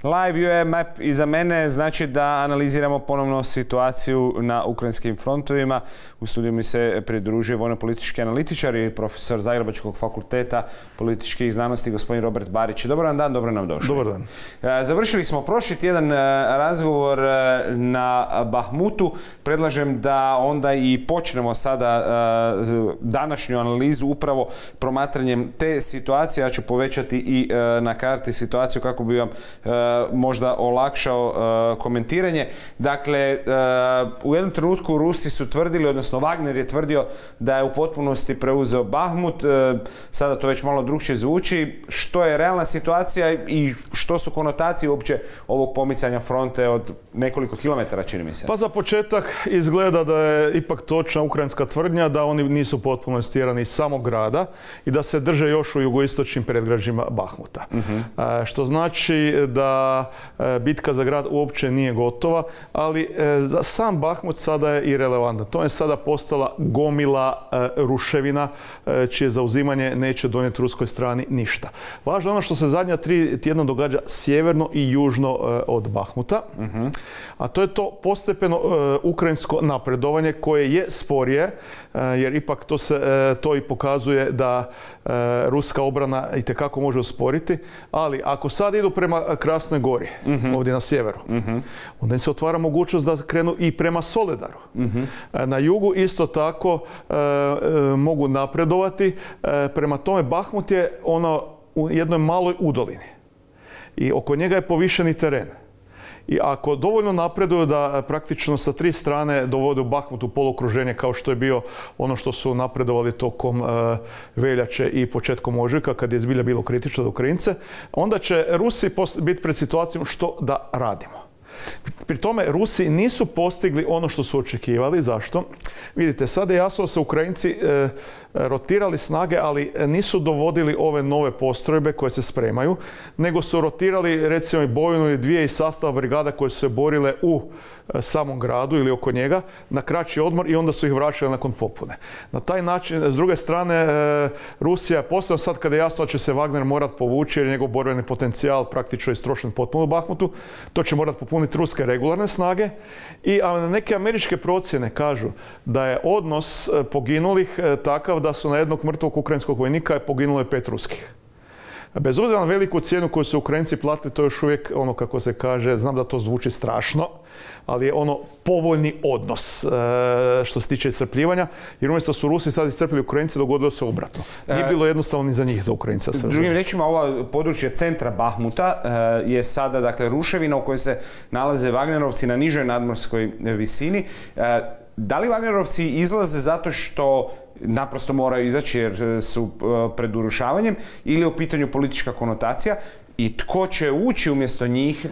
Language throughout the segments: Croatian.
Live UA Map iza mene znači da analiziramo ponovno situaciju na ukrajinskim frontovima. U studiju mi se pridružuje vojno-politički analitičar i profesor Zagrebačkog fakulteta političkih znanosti gospodin Robert Barić. Dobar vam dan, dobro nam došli. Dobar dan. Završili smo prošli tjedan razgovor na Bahmutu. Predlažem da onda i počnemo sada današnju analizu upravo promatranjem te situacije. Ja ću povećati i na karti situaciju kako bi vam možda olakšao komentiranje. Dakle, u jednom trenutku Rusi su tvrdili, odnosno Wagner je tvrdio da je u potpunosti preuzeo Bahmut. Sada to već malo drukčije zvuči. Što je realna situacija i što su konotacije uopće ovog pomicanja fronte od nekoliko kilometara, čini mi se? Pa za početak izgleda da je ipak točna ukrajinska tvrdnja da oni nisu potpuno istjerani iz samog grada i da se drže još u jugoistočnim predgrađima Bahmuta. Što znači da bitka za grad uopće nije gotova, ali za sam Bahmut sada je i relevantan. To je sada postala gomila ruševina čije zauzimanje neće donijeti ruskoj strani ništa. Važno je ono što se zadnja 3 tjedna događa sjeverno i južno od Bahmuta, a to je to postepeno ukrajinsko napredovanje koje je sporije, jer ipak to i pokazuje da ruska obrana itekako može usporiti, ali ako sad idu prema Krasnoj Gori, ovdje na sjeveru, onda im se otvara mogućnost da krenu i prema Soledaru. Na jugu isto tako mogu napredovati. Prema tome Bahmut je ono u jednoj maloj udolini i oko njega je povišeni teren. I ako dovoljno napreduju da praktično sa 3 strane dovode u Bahmut u polokruženje kao što je bio ono što su napredovali tokom veljače i početkom ožujka kad je zbilja bilo kritično za Ukrajince, onda će Rusi biti pred situacijom što da radimo. Pri tome Rusi nisu postigli ono što su očekivali. Zašto? Vidite, sada je jasno da su Ukrajinci rotirali snage, ali nisu dovodili ove nove postrojbe koje se spremaju, nego su rotirali recimo i bojnu ili 2 iz sastava brigada koje su se borile u samom gradu ili oko njega na kraći odmor i onda su ih vraćali nakon popune. Na taj način, s druge strane, Rusija, posebno sad kada je jasno da će se Wagner morat povući jer je njegov borbeni potencijal praktično istrošen potpuno u Bahmutu, to će morat popuniti ruske regularne snage i neke američke procjene kažu da je odnos poginulih takav da su na jednog mrtvog ukrajinskog vojnika poginulo je 5 ruskih. Bez obzira na veliku cijenu koju su Ukrajinci platili, to je još uvijek ono kako se kaže, znam da to zvuči strašno, ali je ono povoljni odnos što se tiče iscrpljivanja, jer umjesto su Rusi sad iscrpili Ukrajinci, dogodilo se obratno. Nije bilo jednostavno ni za njih, za Ukrajinca. Drugim rečima, ovo područje centra Bahmuta je sada, dakle, ruševina u kojoj se nalaze Wagnerovci na nižoj nadmorskoj visini. Da li Wagnerovci izlaze zato što naprosto moraju izaći jer su pred urušavanjem ili je u pitanju politička konotacija i tko će ući umjesto njih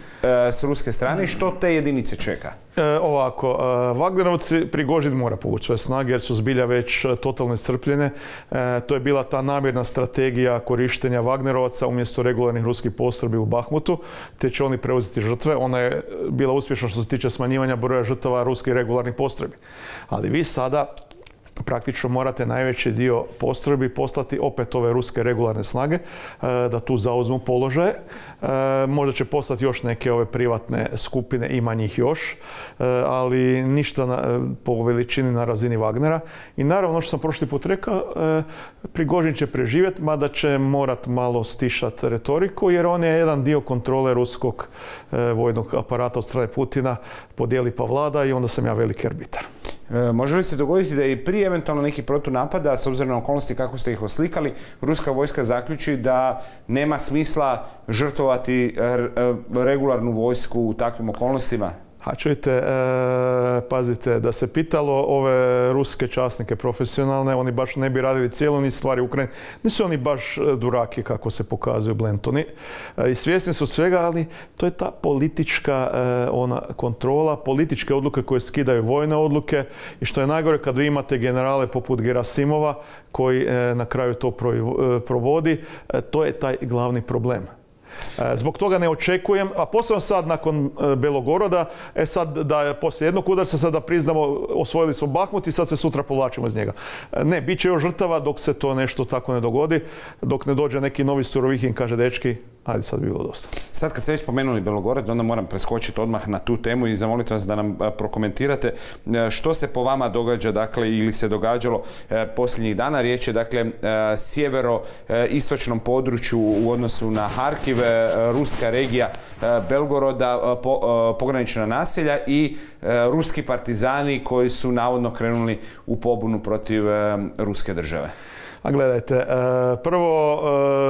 s ruske strane i što te jedinice čeka? Ovako, Wagnerovci, Prigožin mora povući svoje snage jer su zbilja već totalno iscrpljene. To je bila ta namjerna strategija korištenja Wagnerovaca umjesto regularnih ruskih postrojbi u Bahmutu, te će oni preuzeti žrtve. Ona je bila uspješna što se tiče smanjivanja broja žrtava ruskih regularnih postrojbi. Ali vi sada praktično morate najveći dio postrojbi poslati opet ove ruske regularne snage da tu zauzmu položaje. Možda će poslati još neke ove privatne skupine, ima njih još, ali ništa po veličini na razini Wagnera. I naravno, ono što sam prošli put rekao, Prigožin će preživjeti, mada će morat malo stišati retoriku, jer on je jedan dio kontrole ruskog vojnog aparata od strane Putina, podijeli pa vlada i onda sam ja veliki arbitar. Može li se dogoditi da i prije eventualno nekih protunapada, s obzirom na okolnosti kako ste ih oslikali, ruska vojska zaključi da nema smisla žrtvovati regularnu vojsku u takvim okolnostima? A čujte, pazite, da se pitalo ove ruske časnike profesionalne, oni baš ne bi radili cijelu niz stvari u Ukrajini. Nisu oni baš duraki kako se pokazuju Blentoni. I svjesni su svega, ali to je ta politička kontrola, političke odluke koje skidaju vojne odluke i što je najgore kad vi imate generale poput Gerasimova koji na kraju to provodi, to je taj glavni problem. Zbog toga ne očekujem, a posebno sad nakon Belogoroda, sad da poslije jednog udarca sada priznamo osvojili smo Bahmut i sad se sutra povlačimo iz njega. Ne, bit će još žrtava dok se to nešto tako ne dogodi, dok ne dođe neki novi Surovikin, kaže dečki, Ajde, sad bi bilo dosta. Sad kad ste već spomenuli Belogorod, onda moram preskočiti odmah na tu temu i zamoliti vas da nam prokomentirate što se po vama događa, dakle, ili se događalo posljednjih dana. Riječ je, dakle, sjevero-istočnom području u odnosu na Harkiv, ruska regija Belgoroda, pogranična naselja i ruski partizani koji su navodno krenuli u pobunu protiv ruske države. A gledajte, prvo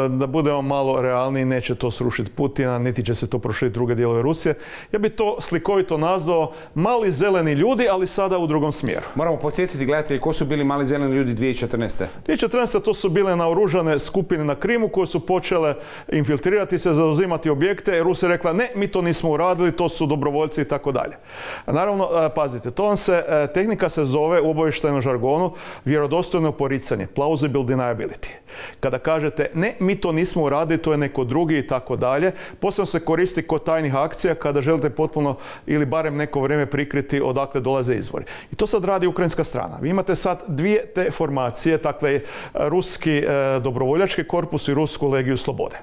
da budemo malo realniji, neće to srušiti Putina, niti će se to proširiti druge dijelove Rusije. Ja bih to slikovito nazvao mali zeleni ljudi, ali sada u drugom smjeru. Moramo podsjetiti, gledajte, ko su bili mali zeleni ljudi 2014. 2014. to su bile naoružane skupine na Krimu koje su počele infiltrirati se, zauzimati objekte. Rusija je rekla, ne, mi to nismo uradili, to su dobrovoljci i tako dalje. Naravno, pazite, tehnika se zove u obavještajnom žargonu vjerodostojno poricanje, plausible deniability. Kada kažete ne, mi to nismo uradili, to je neko drugi i tako dalje. Posebno se koristi kod tajnih akcija kada želite potpuno ili barem neko vrijeme prikriti odakle dolaze izvori. I to sad radi ukrajinska strana. Vi imate sad dvije te formacije, dakle ruski dobrovoljački korpus i rusku legiju slobode.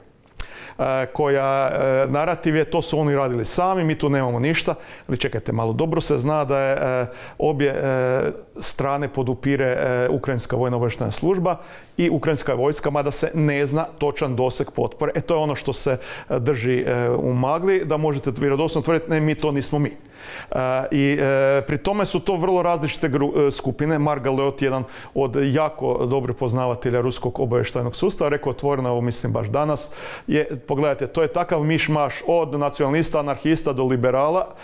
Koja narativ je, to su oni radili sami, mi tu nemamo ništa. Ali čekajte malo, dobro se zna da je obje strane podupire ukrajinska vojna obavještajna služba i ukrajinska vojska, mada se ne zna točan doseg potpore. To je ono što se drži u magli, da možete vjerodostojno tvrditi, ne, mi to nismo mi. I pri tome su to vrlo različite skupine. Mark Galeot, jedan od jako dobrih poznavatelja ruskog obavještajnog sustava, rekao otvoreno, ovo mislim baš danas, pogledajte, to je takav miš-maš od nacionalista, anarhista do liberala.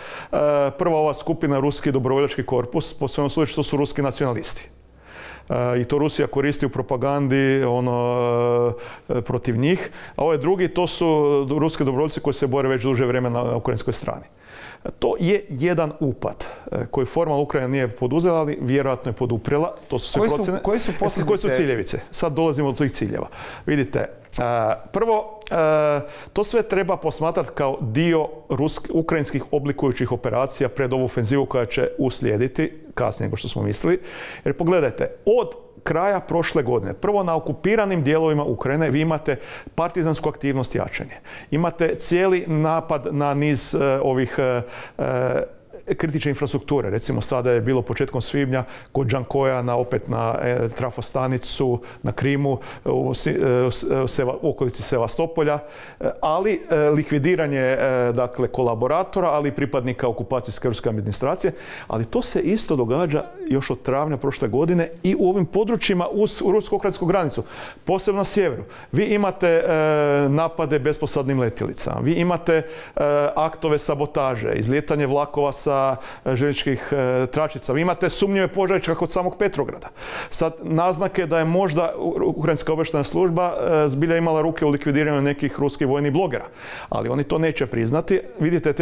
Prva ova skupina, ruski dobrovoljački korpus, po svemu sudeći što su ruski nacionalisti. I to Rusija koristi u propagandi protiv njih. A ovaj drugi, to su ruski dobrovoljci koji se bore već duže vremena na ukrajinskoj strani. To je jedan upad koji formalno Ukrajina nije poduzela, ali vjerojatno je poduprela. To su sve procjene. Koji su ciljevice? Sad dolazimo do tih ciljeva. Vidite, prvo, to sve treba posmatrati kao dio ukrajinskih oblikujućih operacija pred ovu ofenzivu koja će uslijediti kasnije nego što smo mislili. Jer pogledajte, od kraja prošle godine, prvo na okupiranim dijelovima Ukrajine vi imate partizansku aktivnost i jačanje. Imate cijeli napad na niz ovih kritične infrastrukture. Recimo sada je bilo početkom svibnja kod Džankoja opet na trafostanicu na Krimu u okolici Sevastopolja, ali likvidiranje dakle kolaboratora, ali i pripadnika okupacijske ruske administracije. Ali to se isto događa još od travnja prošle godine i u ovim područjima uz rusko-ukrajinsku granicu, posebno na sjeveru. Vi imate napade besposadnim letjelicama, vi imate aktove sabotaže, izlijetanje vlakova sa željezničkih tračica. Vi imate sumnjive požare čak kod samog Petrograda. Sad, naznake da je možda ukrajinska obavještajna služba zbilja imala ruke u likvidiranju nekih ruskih vojnih blogera. Ali oni to neće priznati. Vidite,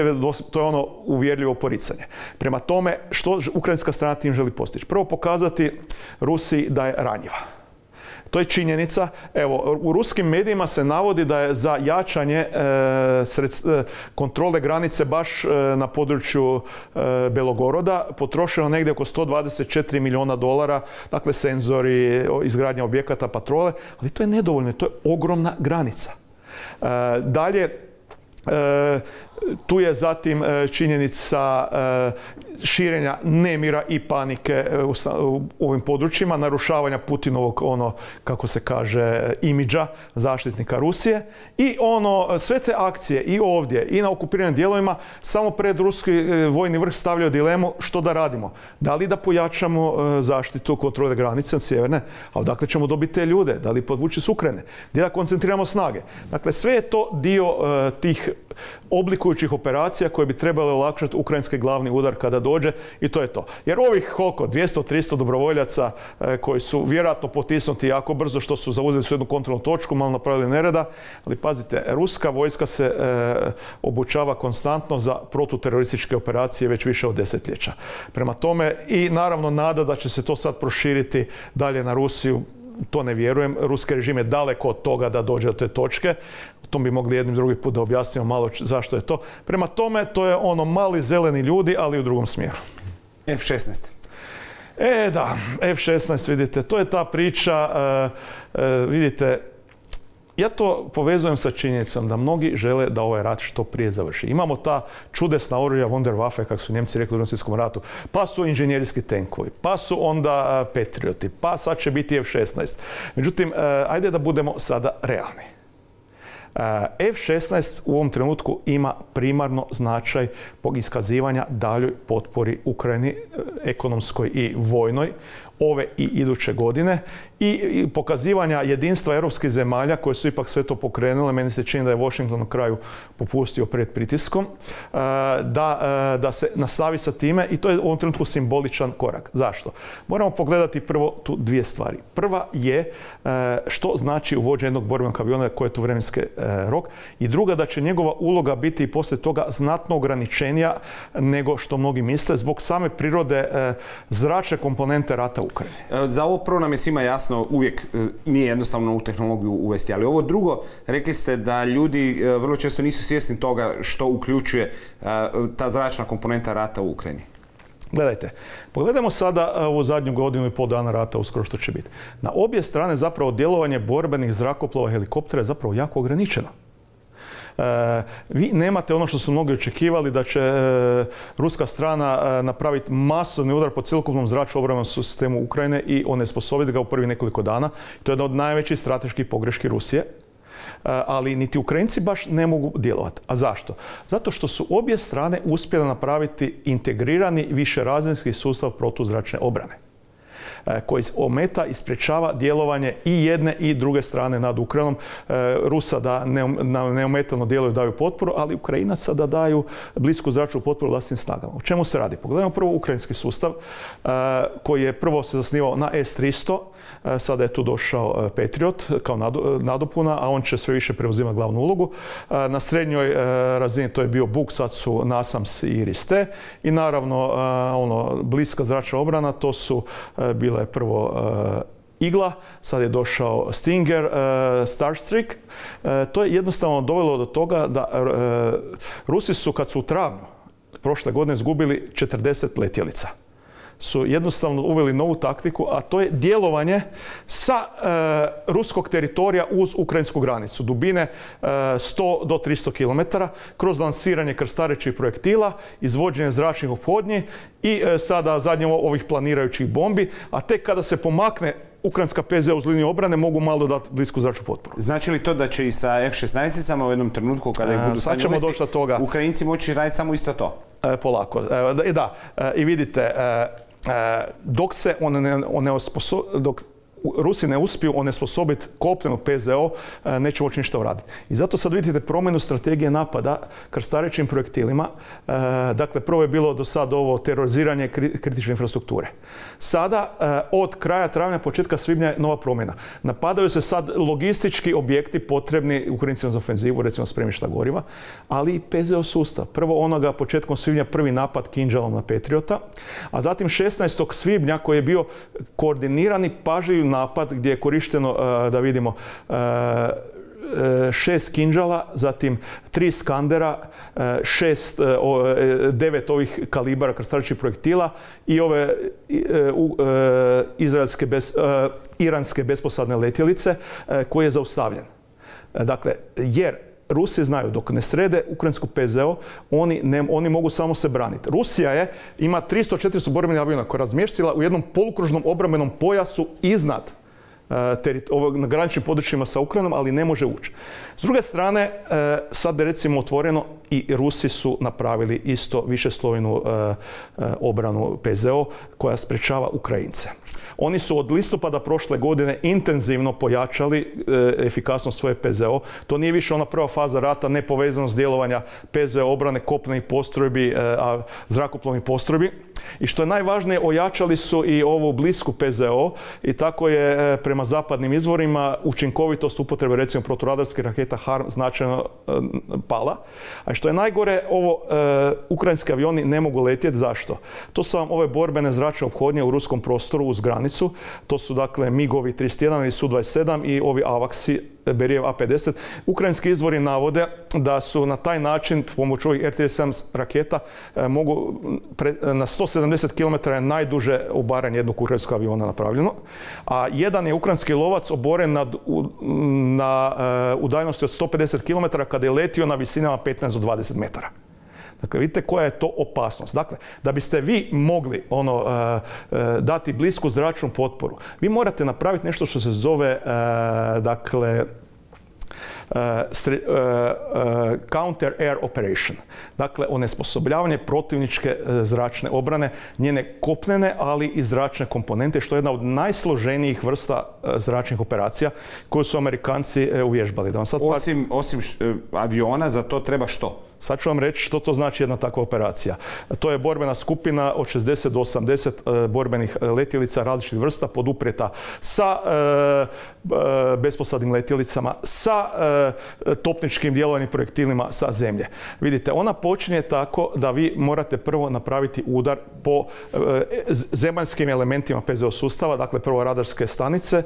to je ono uvjerljivo poricanje. Prema tome, što ukrajinska strana tim želi postići? Prvo, pokazati Rusiji da je ranjiva. To je činjenica. Evo, u ruskim medijima se navodi da je za jačanje kontrole granice baš na području Belogoroda potrošeno negdje oko $124 milijuna, dakle senzori, izgradnja objekata, patrole, ali to je nedovoljno, to je ogromna granica. Dalje, tu je zatim činjenica širenja nemira i panike u ovim područjima, narušavanja Putinovog, kako se kaže, imidža zaštitnika Rusije. I sve te akcije i ovdje i na okupiranim dijelovima samo pred ruski vojni vrh stavljaju dilemu što da radimo. Da li da pojačamo zaštitu kontrole granice sjeverne, a odakle ćemo dobiti te ljude? Da li podvući s Ukrajine? Gdje da koncentriramo snage? Dakle, sve je to dio tih oblikujućih operacija koje bi trebale olakšati ukrajinski glavni udar kada dođe i to je to. Jer ovih koliko? 200-300 dobrovoljaca koji su vjerojatno potisnuti jako brzo što su zauzeli su jednu kontrolnu točku, malo napravili nereda, ali pazite, ruska vojska se obučava konstantno za protuterorističke operacije već više od desetljeća. Prema tome i naravno nada da će se to sad proširiti dalje na Rusiju, to ne vjerujem. Ruski režim je daleko od toga da dođe do te točke. O tom bi mogli jednim drugi put da objasnimo malo zašto je to. Prema tome, to je mali zeleni ljudi, ali u drugom smjeru. F-16. Da, F-16, vidite, to je ta priča, vidite, Ja to povezujem sa činjenicom da mnogi žele da ovaj rat što prije završi. Imamo ta čudesna oružja Wunderwaffe, kako su Njemci rekli u Drugom svjetskom ratu, pa su inženjerijski tenkovi, pa su onda Patrioti, pa sad će biti F-16. Međutim, ajde da budemo sada realni. F-16 u ovom trenutku ima primarno značaj iskazivanja daljoj potpori Ukrajini, ekonomskoj i vojnoj, ove i iduće godine i pokazivanja jedinstva europskih zemalja koje su ipak sve to pokrenule. Meni se čini da je Washington na kraju popustio pred pritiskom, da se nastavi sa time i to je u ovom trenutku simboličan korak. Zašto? Moramo pogledati prvo tu dvije stvari. Prva je što znači uvođenje jednog borbenog aviona, koji je to vremenski rok, i druga da će njegova uloga biti i poslije toga znatno ograničenija nego što mnogi misle zbog same prirode zračne komponente rata u Ukrajini. Za ovo prvo nam je svima jasno, uvijek nije jednostavno u tehnologiju uvesti, ali ovo drugo, rekli ste da ljudi vrlo često nisu svjesni toga što uključuje ta zračna komponenta rata u Ukrajini. Gledajte, pogledajmo sada ovu zadnju godinu i pol dana rata, uskoro što će biti. Na obje strane zapravo djelovanje borbenih zrakoplova i helikoptera je zapravo jako ograničeno. Vi nemate ono što su mnogi očekivali, da će ruska strana napraviti masovni udar po cjelokupnom zračnom obrambenom sistemu Ukrajine i onesposobiti ga u prvih nekoliko dana. To je jedna od najvećih strateških pogreški Rusije. Ali niti Ukrajinci baš ne mogu djelovati. A zašto? Zato što su obje strane uspjele napraviti integrirani višerazinski sustav protuzračne obrane koji ometa i sprječava djelovanje i jedne i druge strane nad Ukrajinom. Rusa da neometano djeluju, daju potporu, ali Ukrajinaca da daju blisku zračnu potporu vlastnim snagama. O čemu se radi? Pogledajmo prvo ukrajinski sustav koji je prvo se zasnivao na S-300, sada je tu došao Patriot kao nadopuna, a on će sve više preuzimati glavnu ulogu. Na srednjoj razini to je bio Buk, sad su NASAMS i IRIS-T i naravno bliska zračna obrana, to su bila je prvo Igla, sad je došao Stinger, Starstreak. To je jednostavno dovelo do toga da Rusi su, kad su u travnju prošle godine izgubili 40 letjelica, su jednostavno uveli novu taktiku, a to je djelovanje sa ruskog teritorija uz ukrajinsku granicu, dubine 100 do 300 km, kroz lansiranje krstarećih projektila, izvođenje zračnih ophodnji i sada zadnje ovih planirajućih bombi, a tek kada se pomakne ukrajinska PZO uz liniju obrane, mogu malo dati blisku zračnu potporu. Znači li to da će i sa F-16-icama u jednom trenutku, kada ih budu stanje uvesti, Ukrajinci moći raditi samo isto to? Polako. Da, i vidite, dok Rusi ne uspiju onesposobiti kopnenu PZO, neće moći ništa uraditi. I zato sad vidite promjenu strategije napada krstarećim projektilima. Dakle, prvo je bilo do sad ovo teroriziranje kritične infrastrukture. Sada, od kraja travnja, početka svibnja je nova promjena. Napadaju se sad logistički objekti potrebni Ukrajincima za ofenzivu, recimo spremišta goriva, ali i PZO sustav. Prvo onoga početkom svibnja prvi napad Kinžalom na Patriota, a zatim 16. svibnja koji je bio koordinirani pažljiv napad gdje je korišteno, da vidimo, 6 Kinžala, zatim 3 Skandera, 9 ovih kalibara krstarećih projektila i ove iranske besposadne letjelice koji je zaustavljen. Dakle, jer Rusi znaju, dok ne srede ukrajinsku PZO, oni mogu samo se braniti. Rusija ima 300-400 borbenih aviona koja je razmještila u jednom polukružnom obrambenom pojasu iznad na graničnim područjima sa Ukrajinom, ali ne može ući. S druge strane, sad je recimo otvoreno i Rusi su napravili isto višeslojnu obranu PZO koja sprečava Ukrajince. Oni su od listopada prošle godine intenzivno pojačali efikasnost svoje PZO. To nije više ona prva faza rata, nepovezanost djelovanja PZO obrane kopnenih postrojbi, zrakoplovnih postrojbi. I što je najvažnije, ojačali su i ovu blisku PZO i tako je prema zapadnim izvorima učinkovitost upotrebe recimo proturadarskih raketa HARM značajno pala. A što je najgore, ukrajinski avioni ne mogu letjeti. Zašto? To su vam ove borbene zračne ophodnje u ruskom prostoru uz granicu. To su dakle MiG-ovi 31 i Su-27 i ovi AWACS-i Berijev A-50. Ukrajinski izvori navode da su na taj način, pomoću ovih R-37 raketa, mogu na 170 km je najduže obaranje jednog ukrajinskog aviona napravljeno, a jedan je ukrajinski lovac oboren na udaljenosti od 150 km kada je letio na visinama 15 do 20 metara. Dakle, vidite koja je to opasnost. Dakle, da biste vi mogli dati blisku zračnu potporu, vi morate napraviti nešto što se zove, counter air operation. Dakle, onesposobljavanje protivničke zračne obrane, njene kopnene, ali i zračne komponente, što je jedna od najsloženijih vrsta zračnih operacija koju su Amerikanci uvježbali. Osim aviona, za to treba što? Sad ću vam reći što to znači jedna takva operacija. To je borbena skupina od 60 do 80 borbenih letjelica različitih vrsta poduprijeta sa besposadnim letjelicama, sa topničkim djelovanim projektilima sa zemlje. Vidite, ona počinje tako da vi morate prvo napraviti udar po zemaljskim elementima PZO sustava, dakle prvo radarske stanice,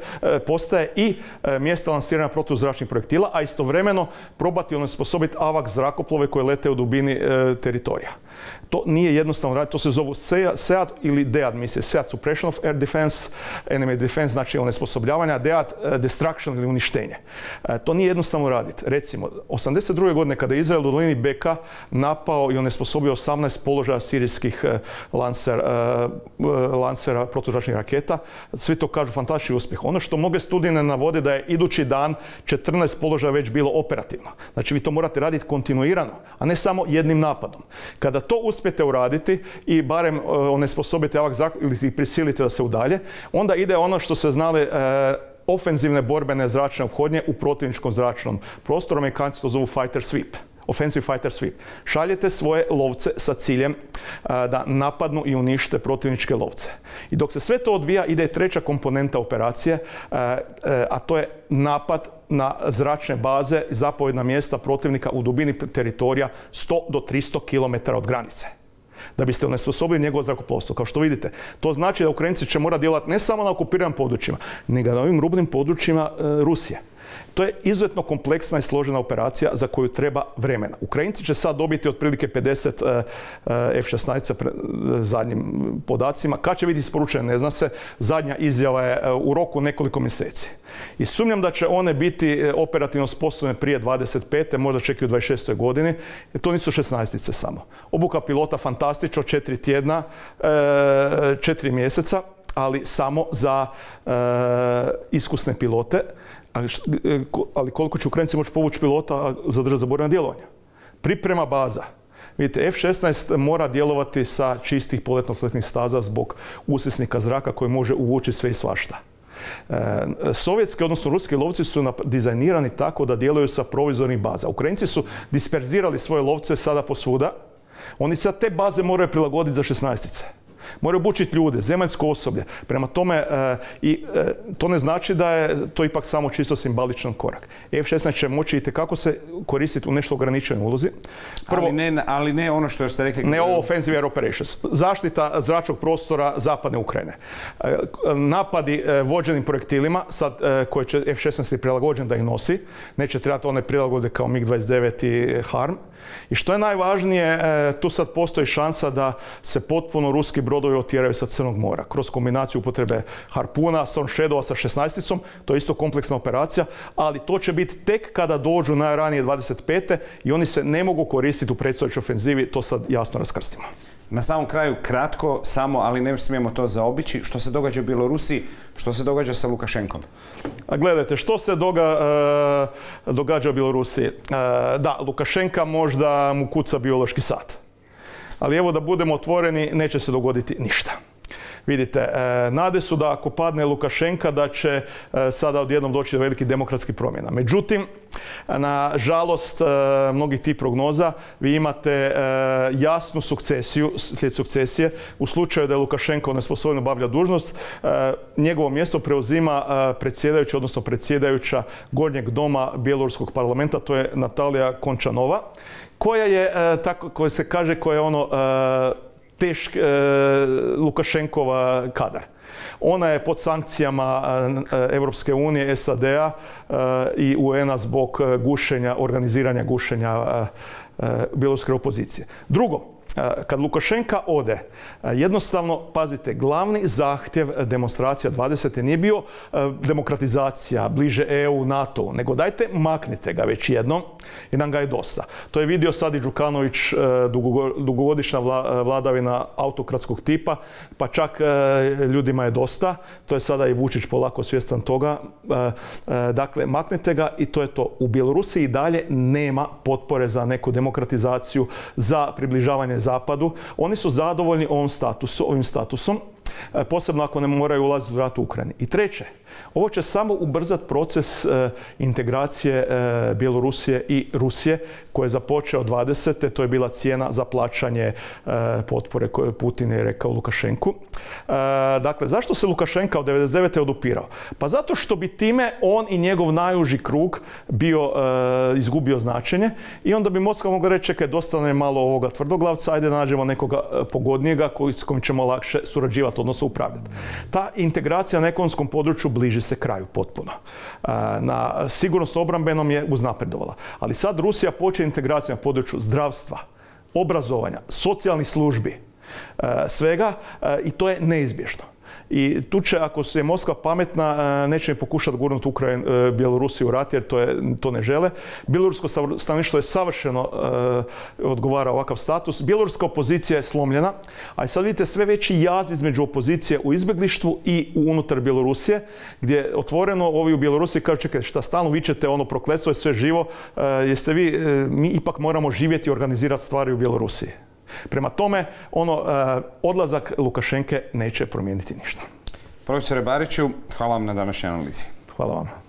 postaje i mjesta lansiranja protuzračnih projektila, a istovremeno probati onesposobiti AWACS zrakoplove koje lete u dubini teritorija. To nije jednostavno raditi, to se zovu SEAD ili DEAD misije. SEAD Suppression of Air Defense, Enemy Defense, znači onesposobljavanja, DEAD Destruction ili uništenje. To nije jednostavno raditi. Recimo, 82. godine kada je Izrael u dolini Beka napao i onesposobio 18 položaja sirijskih lansera protuzračnih raketa, svi to kažu fantastični uspjeh. Ono što mnoge studije ne navode da je idući dan 14 položaja već bilo operativno. Znači vi to morate raditi kontinuirano, a ne samo jednim napadom. Kada to uspijete uraditi i barem onesposobite AWACS zrak ili ih prisilite da se udalje, onda ide ono što se znali ofenzivne borbene zračne ophodnje u protivničkom zračnom prostoru. Amerikanci to zovu fighter sweep. Offensive fighter sweep. Šaljete svoje lovce sa ciljem da napadnu i unište protivničke lovce. I dok se sve to odvija, ide treća komponenta operacije, a to je napad na zračne baze i zapovjedna mjesta protivnika u dubini teritorija 100 do 300 km od granice. Da biste onesposobili njegovo zrakoplovstvo. Kao što vidite, to znači da Ukrajinci će morati djelovati ne samo na okupiranim područjima, nego na ovim rubnim područjima Rusije. To je izuzetno kompleksna i složena operacija za koju treba vremena. Ukrajinci će sad dobiti otprilike 50 F-16 zadnjim podacima. Kad će biti isporučene, ne zna se. Zadnja izjava je u roku nekoliko mjeseci. I sumnjam da će one biti operativno sposobne prije 25. možda čak i u 26. godini. To nisu 16-ice samo. Obuka pilota fantastično, 4 tjedna, 4 mjeseca, ali samo za iskusne pilote. Ali koliko će Ukrajinci moći povući pilota zadržati za borbena djelovanja? Priprema baza. Vidite, F-16 mora djelovati sa čistih poletno-sletnih staza zbog usisnika zraka koji može uvući sve i svašta. Sovjetski, odnosno ruski lovci su dizajnirani tako da djeluju sa provizornih baza. Ukrajinci su disperzirali svoje lovce sada posvuda. Oni sad te baze moraju prilagoditi za 16-ice. Moraju obučiti ljude, zemaljsko osoblje. Prema tome, to ne znači da je to ipak samo čisto simboličan korak. F-16 će moći itekako se koristiti u nešto ograničenoj ulozi. Prvo, ali ne ono što ste rekli. Ne ovo offensive air operations. Zaštita zračnog prostora zapadne Ukrajine. Napadi vođenim projektilima, sad koje će F-16 prilagođen da ih nosi. Neće trebati one prilagode kao MiG-29 i HARM. I što je najvažnije, tu sad postoji šansa da se potpuno ruski brodovi otjeraju sa Crnog mora kroz kombinaciju upotrebe harpuna, Storm Shadowa sa 16-icom, to je isto kompleksna operacija, ali to će biti tek kada dođu najranije 25. i oni se ne mogu koristiti u predstojećoj ofenzivi, to sad jasno raskrstimo. Na samom kraju, kratko, samo, ali ne smijemo to zaobići, što se događa u Bjelorusiji, što se događa sa Lukašenkom? A gledajte, što se događa u Bjelorusiji? Da, Lukašenka možda mu kuca biološki sat. Ali evo da budemo otvoreni, neće se dogoditi ništa. Vidite, nade su da ako padne Lukašenka da će sada odjednom doći do velikih demokratskih promjena. Međutim, nažalost, mnogih tih prognoza, vi imate jasnu sukcesiju, slijed sukcesije. U slučaju da je Lukašenko nesposobno obavlja dužnost, njegovo mjesto preuzima predsjedajući, odnosno predsjedajuća Gornjeg doma Bjeloruskog parlamenta, to je Natalija Končanova, koja je, tako koja se kaže, koja je tešk Lukašenkova kadar. Ona je pod sankcijama Europske unije, SAD-a i UN-a zbog organiziranja gušenja bjeloruske opozicije. Drugo, kad Lukašenka ode, jednostavno, pazite, glavni zahtjev demonstracija 20. nije bio demokratizacija, bliže EU, NATO, nego dajte maknite ga već jednom jer nam ga je dosta. To je vidio sad i Đukanović, dugogodišnja vladavina autokratskog tipa, pa čak ljudima je dosta. To je sada i Vučić polako svjestan toga. Dakle, maknite ga i to je to. U Bjelorusiji i dalje nema potpore za neku demokratizaciju, za približavanje Zapadu. Oni su zadovoljni ovim statusom, posebno ako ne moraju ulaziti u rat u Ukrajini. I treće, ovo će samo ubrzati proces integracije Bjelorusije i Rusije koji je započeo 20. To je bila cijena za plaćanje potpore koju Putin je rekao Lukašenku. Dakle, zašto se Lukašenka od 99. odupirao? Pa zato što bi time on i njegov najuži krug izgubio značenje i onda bi Moskva mogla reći čekaj, dosta nam je malo ovoga tvrdoglavca, ajde nađemo nekoga pogodnijega s kojim ćemo lakše surađivati, odnosno upravljati. Ta integracija na ekonomskom području bliži se kraju potpuno. Na sigurnosno obrambenom je uznapredovala. Ali sad Rusija počne integraciju na području zdravstva, obrazovanja, socijalnih službi, svega i to je neizbježno. I tu će, ako je Moskva pametna, neće ni pokušati gurnuti Bjelorusiju u rat jer to ne žele. Bjelorusko stanovništvo je savršeno odgovara ovakav status. Bjeloruska opozicija je slomljena, a i sad vidite sve veći jaz između opozicije u izbjeglištvu i unutar Bjelorusije, gdje otvoreno ovi u Bjelorusiji kažu čekaj, šta stalno vičete, ono prokletstvo je sve živo, mi ipak moramo živjeti i organizirati stvari u Bjelorusiji. Prema tome, odlazak Lukašenke neće promijeniti ništa. Profesore Bariću, hvala vam na današnjoj analizi. Hvala vam.